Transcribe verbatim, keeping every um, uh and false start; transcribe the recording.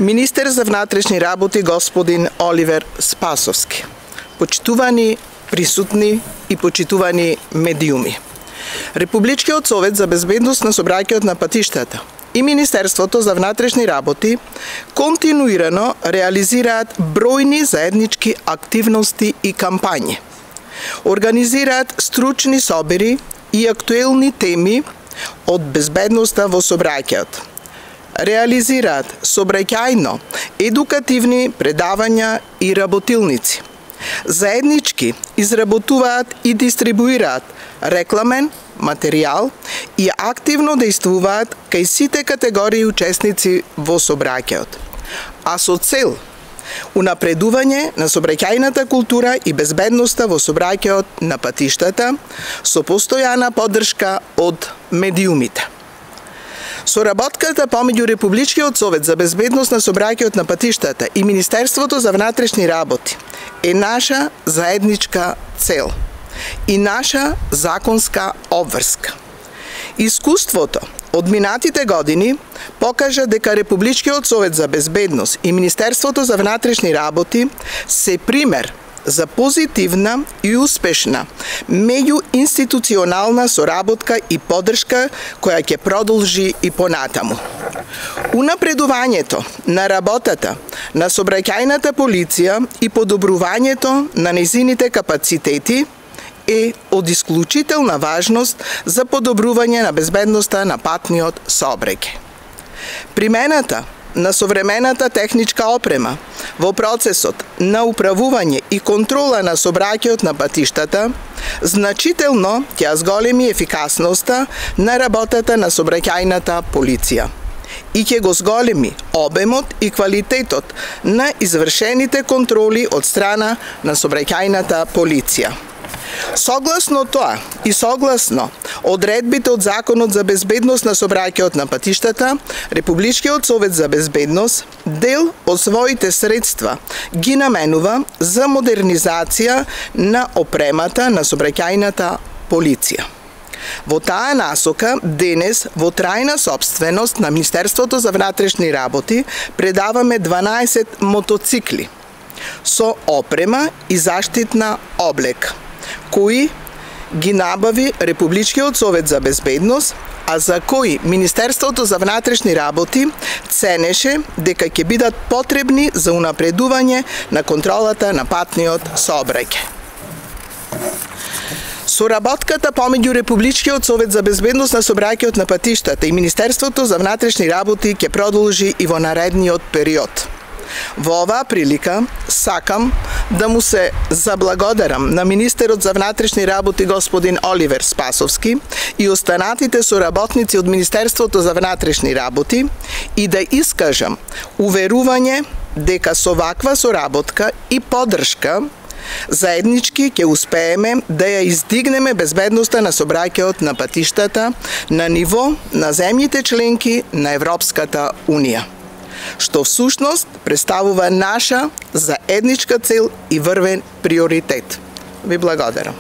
Министер за внатрешни работи господин Оливер Спасовски, почитувани присутни и почитувани медиуми. Републичкиот совет за безбедност на сообраќајот на патиштата и Министерството за внатрешни работи континуирано реализираат бројни заеднички активности и кампањи. Организираат стручни собери и актуелни теми од безбедноста во сообраќајот. Реализираат сообраќајно едукативни предавања и работилници. Заеднички изработуваат и дистрибуираат рекламен материјал и активно действуваат кај сите категории учесници во сообраќајот, а со цел унапредување на сообраќајната култура и безбедноста во сообраќајот на патиштата со постојана поддршка од медиумите. Соработката помеѓу Републичкиот совет за безбедност на сообраќајот на патиштата и Министерството за внатрешни работи е наша заедничка цел и наша законска обврска. Искуството од минатите години покажа дека Републичкиот совет за безбедност и Министерството за внатрешни работи се пример за позитивна и успешна меѓуинституционална соработка и поддршка која ќе продолжи и понатаму. Унапредувањето на работата на сообраќајната полиција и подобрувањето на нејзините капацитети е од исклучителна важност за подобрување на безбедноста на патниот сообраќај. Примената на современата техничка опрема во процесот на управување и контрола на сообраќајот на патиштата значително ќе зголеми ефикасноста на работата на сообраќајната полиција и ќе го зголеми обемот и квалитетот на извршените контроли од страна на сообраќајната полиција. Согласно тоа и согласно одредбите од Законот за безбедност на сообраќајот на патиштата, Републичкиот совет за безбедност дел од своите средства ги наменува за модернизација на опремата на сообраќајната полиција. Во таа насока, денес, во трајна собственост на Министерството за внатрешни работи, предаваме дванаесет мотоцикли со опрема и заштитна облека, кои ги набави Републичкиот совет за безбедност, а за кои Министерството за внатрешни работи ценеше дека ќе бидат потребни за унапредување на контролата на патниот сообраќај. Соработката помеѓу Републичкиот совет за безбедност на сообраќајот на патиштата и Министерството за внатрешни работи ќе продолжи и во наредниот период. Во оваа прилика сакам да му се заблагодарам на министерот за внатрешни работи господин Оливер Спасовски и останатите соработници од Министерството за внатрешни работи и да искажам уверување дека со ваква соработка и поддршка заеднички ќе успееме да ја издигнеме безбедноста на сообраќајот на патиштата на ниво на земјите членки на Европската унија, што всушност представува наша заедничка цел и врвен приоритет. Ви благодарам.